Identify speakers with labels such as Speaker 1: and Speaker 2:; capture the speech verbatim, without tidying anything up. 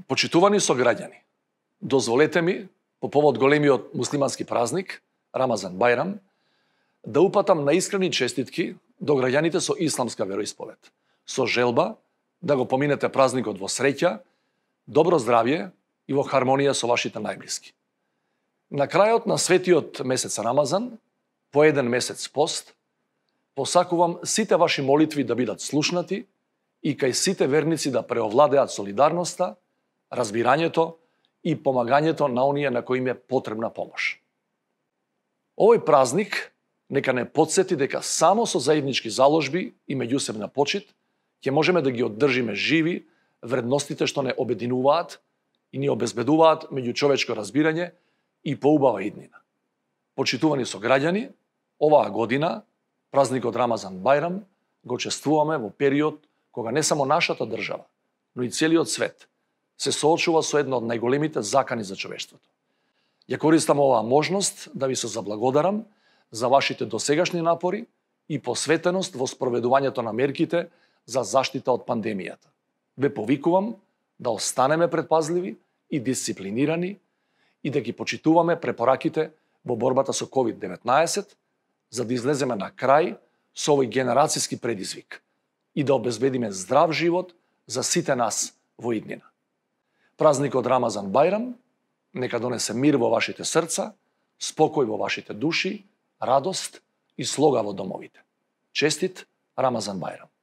Speaker 1: Почитувани сограѓани, дозволете ми, по повод големиот муслимански празник, Рамазан Бајрам, да упатам наискрени честитки до граѓаните со исламска вероисповед, со желба да го поминете празникот во среќа, добро здравје и во хармонија со вашите најблиски. На крајот на светиот месец Рамазан, по еден месец пост, посакувам сите ваши молитви да бидат слушнати и кај сите верници да преовладеат солидарноста, разбирањето и помагањето на оние на кои им е потребна помош. Овој празник нека не потсети дека само со заеднички заложби и меѓусебна почит ќе можеме да ги оддржиме живи вредностите што не обединуваат и ни обезбедуваат меѓучовечко разбирање и поубава иднина. Почитувани сограѓани, оваа година, празникот Рамазан Бајрам, го чествуваме во период кога не само нашата држава, но и целиот свет се соочува со една од најголемите закани за човештвото. Ја користам оваа можност да ви се заблагодарам за вашите досегашни напори и посветеност во спроведувањето на мерките за заштита од пандемијата. Ве повикувам да останеме предпазливи и дисциплинирани и да ги почитуваме препораките во борбата со ковид деветнаесет, за да излеземе на крај со овој генерацијски предизвик и да обезбедиме здрав живот за сите нас во иднина. Празникот Рамазан Бајрам нека донесе мир во вашите срца, спокој во вашите души, радост и слога во домовите. Честит Рамазан Бајрам!